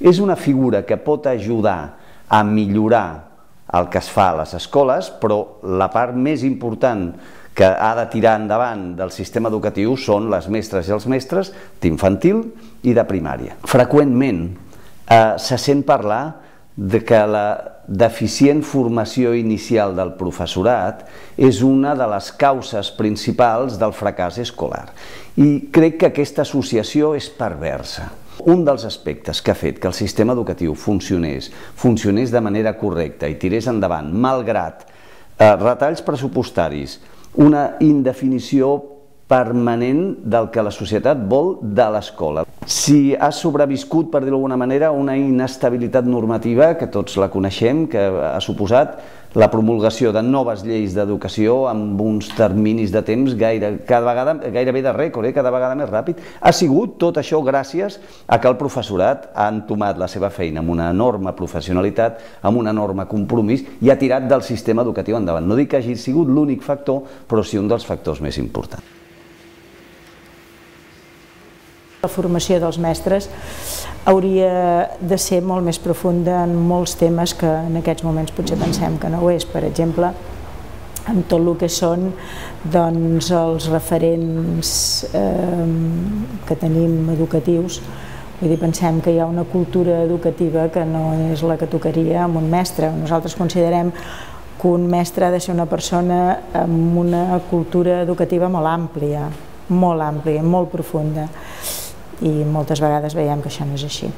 És una figura que pot ajudar a millorar el que es fa a les escoles, però la part més important que ha de tirar endavant del sistema educatiu són les mestres i els mestres d'infantil i de primària. Freqüentment se sent parlar de que la deficient formació inicial del professorat és una de les causes principals del fracàs escolar. I crec que aquesta associació és perversa. Un dels aspectes que ha fet que el sistema educatiu funcionés de manera correcta i tirés endavant, malgrat retalls pressupostaris, una indefinició permanent del que la societat vol de l'escola. Si ha sobreviscut, per dir-ho d'alguna manera, una inestabilitat normativa, que tots la coneixem, que ha suposat la promulgació de noves lleis d'educació amb uns terminis de temps gairebé de rècord, cada vegada més ràpid. Ha sigut tot això gràcies a que el professorat ha entomat la seva feina amb una enorme professionalitat, amb un enorme compromís i ha tirat del sistema educatiu endavant. No dic que hagi sigut l'únic factor, però sí un dels factors més importants. La formació dels mestres hauria de ser molt més profunda en molts temes que en aquests moments potser pensem que no ho és. Per exemple, en tot el que són els referents que tenim educatius. Vull dir, pensem que hi ha una cultura educativa que no és la que tocaria amb un mestre. Nosaltres considerem que un mestre ha de ser una persona amb una cultura educativa molt àmplia, molt profunda. I moltes vegades veiem que això no és així.